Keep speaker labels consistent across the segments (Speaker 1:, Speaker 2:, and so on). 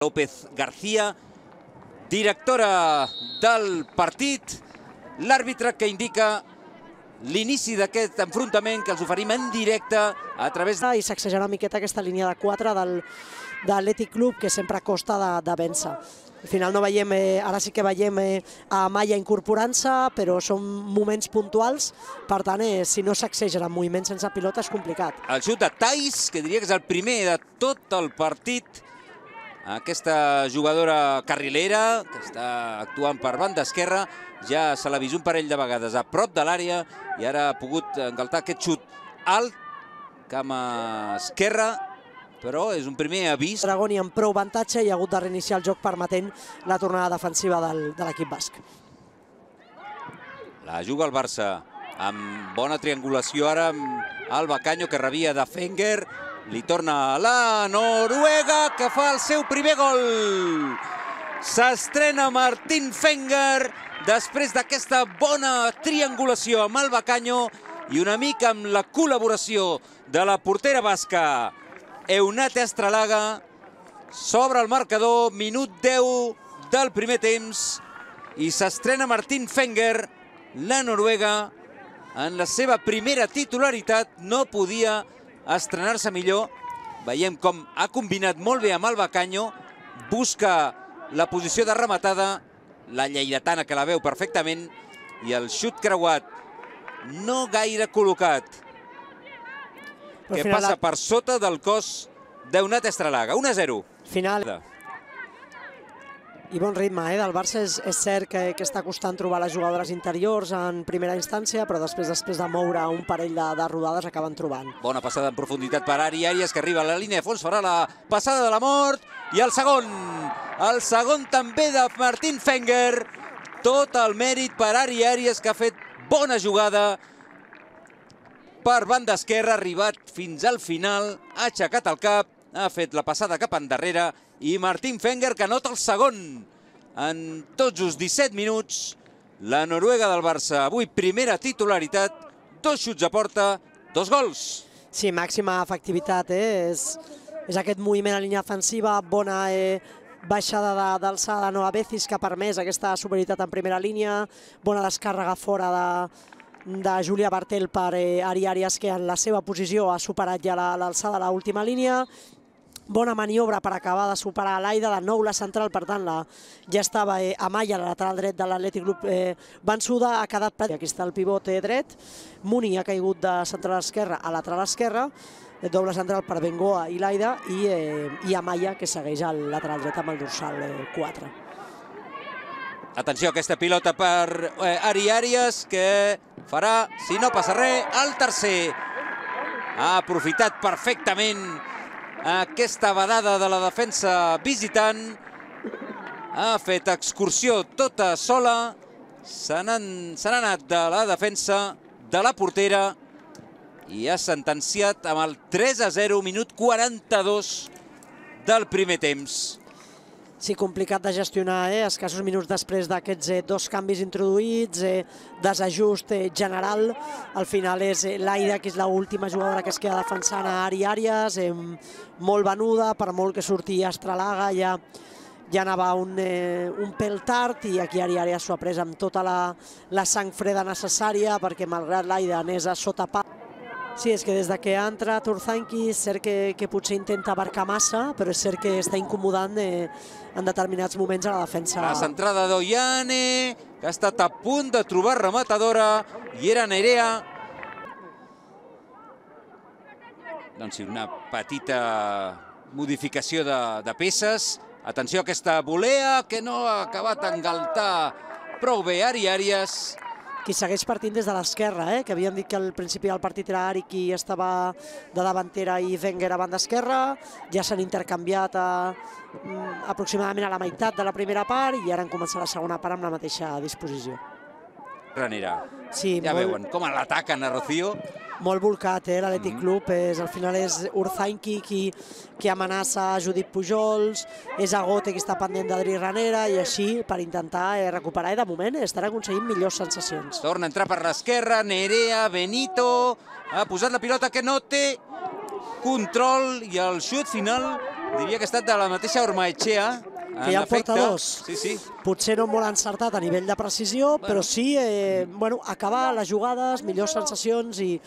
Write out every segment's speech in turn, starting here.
Speaker 1: López García, directora del partit, l'àrbitre que indica l'inici d'aquest enfrontament que els oferim en directe a través de...
Speaker 2: I sacsejar una miqueta aquesta línia de 4 de l'Atlètic Club, que sempre costa de vèncer. Al final no veiem, ara sí que veiem a Amaya incorporant-se, però són moments puntuals, per tant, si no sacsegen en moviments sense pilota és complicat.
Speaker 1: El xut de Thais, que diria que és el primer de tot el partit. Aquesta jugadora carrilera, que està actuant per banda esquerra, ja se l'ha vist un parell de vegades a prop de l'àrea i ara ha pogut engaltar aquest xut alt, cama esquerra, però és un primer avís.
Speaker 2: Dragoni amb prou avantatge i ha hagut de reiniciar el joc permetent la tornada defensiva de l'equip basc.
Speaker 1: La juga el Barça amb bona triangulació ara amb Alba Caño, que rebia de Fenger. Li torna a la Noruega, que fa el seu primer gol. S'estrena Martín Fenger després d'aquesta bona triangulació amb Alba Caño i una mica amb la col·laboració de la portera basca Eunate Astralaga. S'obre el marcador, minut 10 del primer temps, i s'estrena Martín Fenger, la Noruega, en la seva primera titularitat. No podia estrenar-se millor. Veiem com ha combinat molt bé amb Alba Caño, busca la posició de rematada, la lleidatana que la veu perfectament, i el xut creuat no gaire col·locat, que passa per sota del cos d'Eunate Astralaga. 1-0.
Speaker 2: Final. I bon ritme del Barça. És cert que està costant trobar les jugadores interiors en primera instància, però després de moure un parell de rodades acaben trobant.
Speaker 1: Bona passada en profunditat per Ari Arias, que arriba a la línia de fons, farà la passada de la mort, i el segon també de Martín Fenger. Tot el mèrit per Ari Arias, que ha fet bona jugada per banda esquerra, ha arribat fins al final, ha aixecat el cap, ha fet la passada cap endarrere, i Martín Fenger, que anota el segon en tots els 17 minuts. La Noruega del Barça, avui primera titularitat, 2 xuts a porta, 2 gols.
Speaker 2: Sí, màxima efectivitat. És aquest moviment a línia defensiva, bona baixada d'alçada de Noa Becis, que ha permès aquesta superioritat en primera línia, bona descàrrega fora de Júlia Bartel per Ari Arias, que en la seva posició ha superat ja l'alçada de l'última línia. Bona maniobra per acabar de superar l'Aida, de nou la central, per tant ja estava Amaya, la lateral dret de l'Atlètic Club, vençuda, ha quedat... Aquí està el pivot dret, Muni ha caigut de central esquerra a lateral esquerra, doble central per Bengoa i l'Aida, i Amaya, que segueix al lateral dret amb el dorsal 4.
Speaker 1: Atenció a aquesta pilota per Ari Arias, que farà, si no passa res, el tercer. Ha aprofitat perfectament aquesta vedada de la defensa visitant. Ha fet excursió tota sola. Se n'ha anat de la defensa de la portera i ha sentenciat amb el 3-0, minut 42 del primer temps.
Speaker 2: Sí, complicat de gestionar, escassos minuts després d'aquests 2 canvis introduïts, desajust general. Al final és l'Aida, que és l'última jugadora que es queda defensant a Ari Arias, molt venuda, per molt que surti Astralaga, ja anava un pèl tard, i aquí Ari Arias s'ho ha pres amb tota la sang freda necessària, perquè malgrat l'Aida anés a sota pal. Sí, és que des que ha entrat Urzainqui és cert que potser intenta abarcar massa, però és cert que està incomodant en determinats moments a la defensa.
Speaker 1: La centrada d'Oiane, que ha estat a punt de trobar rematadora, i era Nerea. Doncs sí, una petita modificació de peces. Atenció a aquesta volea, que no ha acabat d'engaltar prou bé Ari Arias.
Speaker 2: Qui segueix partint des de l'esquerra, que havíem dit que al principi del partit era Ari qui estava de davantera i Wenger a banda esquerra. Ja s'han intercanviat aproximadament a la meitat de la primera part, i ara han començat la segona part amb la mateixa disposició.
Speaker 1: Ranera.
Speaker 2: Sí,
Speaker 1: ja veuen com l'ataquen a Rocío.
Speaker 2: Molt volcat, l'Atlètic Club. Al final és Urzainqui qui amenaça a Judit Pujols, és Agote qui està pendent d'Adri Ranera, i així per intentar recuperar, i de moment estan aconseguint millors sensacions.
Speaker 1: Torna a entrar per l'esquerra, Nerea, Benito, ha posat la pilota que no té control, i el xut final Diria que ha estat de la mateixa Ormaechea.
Speaker 2: Que ja en porta dos.
Speaker 1: Sí, sí.
Speaker 2: Potser no molt encertat a nivell de precisió, però sí acabar les jugades, millors sensacions i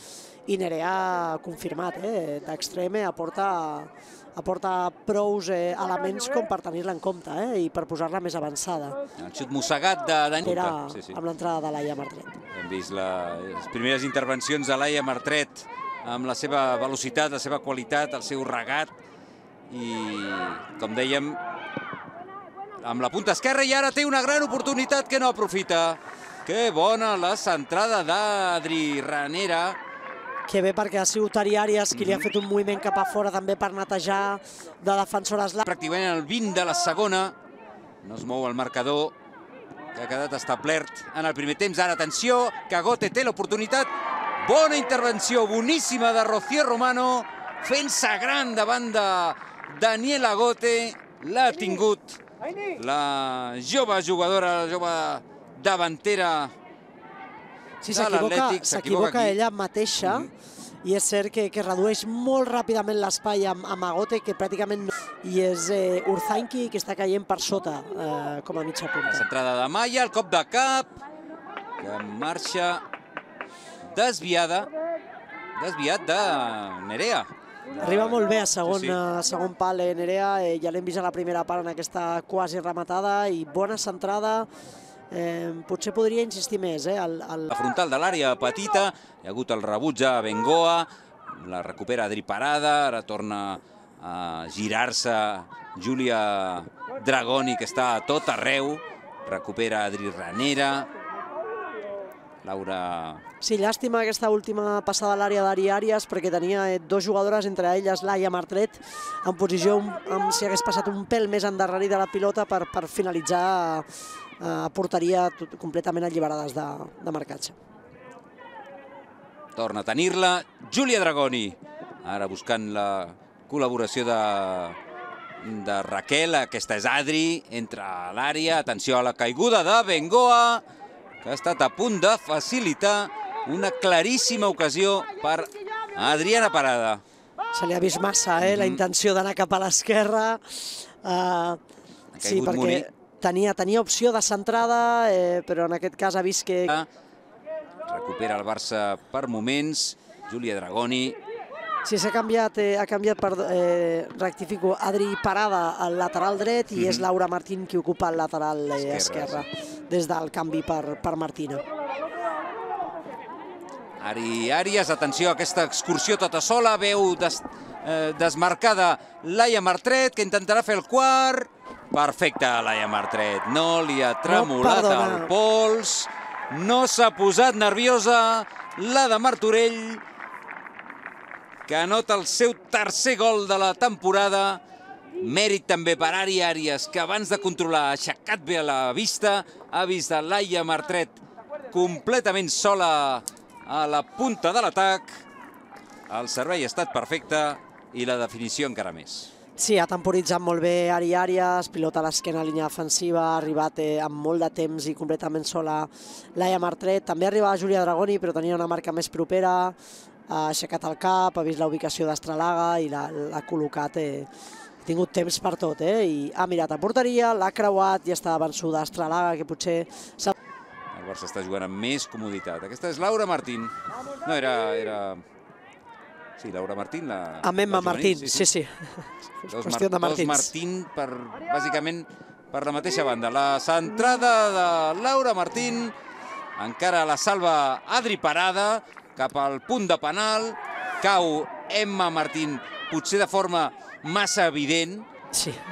Speaker 2: Nerea ha confirmat. D'extrem aporta prous elements com per tenir-la en compte i per posar-la més avançada.
Speaker 1: El xut mossegat de Dani.
Speaker 2: Era amb l'entrada de Laia Martret.
Speaker 1: Hem vist les primeres intervencions de Laia Martret amb la seva velocitat, la seva qualitat, el seu regat. I, com dèiem, amb la punta esquerra, i ara té una gran oportunitat que no aprofita. Que bona la centrada d'Adri Ranera.
Speaker 2: Que bé, perquè ha sigut Ari Arias qui li ha fet un moviment cap a fora també per netejar de defensores.
Speaker 1: Pràcticament el 20 de la segona. No es mou el marcador, que ha quedat establert en el primer temps. Ara, atenció, que Agote té l'oportunitat. Bona intervenció, boníssima de Rocío Romano, fent-se gran davant de Daniela Agote. L'ha tingut la jove jugadora, la jove davantera.
Speaker 2: Sí, s'equivoca ella mateixa i és cert que redueix molt ràpidament l'espai amb Agote, que pràcticament no. I és Urzainqui que està caient per sota com a mitja punta.
Speaker 1: La centrada de Maya, el cop de cap, que marxa desviat de Nerea.
Speaker 2: Arriba molt bé a segon pal Nerea, ja l'hem vist a la primera part en aquesta quasi rematada i bona centrada. Potser podria insistir més.
Speaker 1: La frontal de l'àrea petita, hi ha hagut el rebuig a Bengoa, la recupera Adri Parada, ara torna a girar-se Júlia Dragoni, que està a tot arreu, recupera Adri Ranera, Laura...
Speaker 2: Sí, llàstima aquesta última passada a l'àrea d'Ari Arias, perquè tenia dos jugadores, entre elles Laia Martret, en posició, si hagués passat un pèl més endarrerit de la pilota per finalitzar a porteria completament alliberades de marcatge.
Speaker 1: Torna a tenir-la Júlia Dragoni, ara buscant la col·laboració de Raquel. Aquesta és Adri, entra a l'àrea, atenció a la caiguda de Bengoa, que ha estat a punt de facilitar una claríssima ocasió per Adriana Parada.
Speaker 2: Se li ha vist massa la intenció d'anar cap a l'esquerra. Sí, perquè tenia opció de centrada, però en aquest cas ha vist que...
Speaker 1: Recupera el Barça per moments, Júlia Dragoni.
Speaker 2: Sí, s'ha canviat, rectifico, Adri Parada al lateral dret i és Laura Martín qui ocupa el lateral esquerre des del canvi per Martina.
Speaker 1: Ari Arias, atenció a aquesta excursió tota sola, veu desmarcada Laia Martret, que intentarà fer el quart. Perfecte, Laia Martret, no li ha tremolat el pols, no s'ha posat nerviosa la de Martorell, que anota el seu tercer gol de la temporada. Mèrit també per Ari Arias, que abans de controlar ha aixecat bé la vista, ha vist a Laia Martret completament sola a la punta de l'atac. El servei ha estat perfecte i la definició encara més.
Speaker 2: Sí, ha temporitzat molt bé Ari Arias, pilota a l'esquena a línia defensiva, ha arribat amb molt de temps i completament sola Laia Martret. També arribava Júlia Dragoni, però tenia una marca més propera, ha aixecat el cap, ha vist la ubicació d'Estralaga i l'ha col·locat. Ha tingut temps per tot, i ha mirat a porteria, l'ha creuat i està vençuda Estralaga, que potser...
Speaker 1: El Barça està jugant amb més comoditat. Aquesta és Laura Martín. No, era... Sí, Laura Martín, la...
Speaker 2: Amb Emma Martín, sí.
Speaker 1: Dos Martín, bàsicament per la mateixa banda. La centrada de Laura Martín, encara la salva Adri Parada, cap al punt de penal, cau Emma Martín, potser de forma massa evident,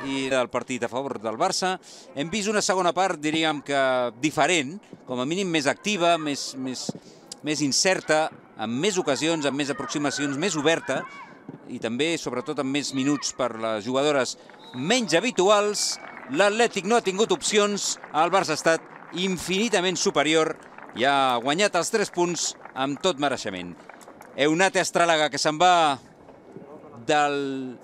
Speaker 1: i del partit a favor del Barça. Hem vist una segona part, diríem que diferent, com a mínim més activa, més incerta, amb més ocasions, amb més aproximacions, més oberta, i també, sobretot, amb més minuts per les jugadores menys habituals. L'Atlètic no ha tingut opcions, el Barça ha estat infinitament superior i ha guanyat els 3 punts amb tot mereixement. Eunate Estralaga, que se'n va del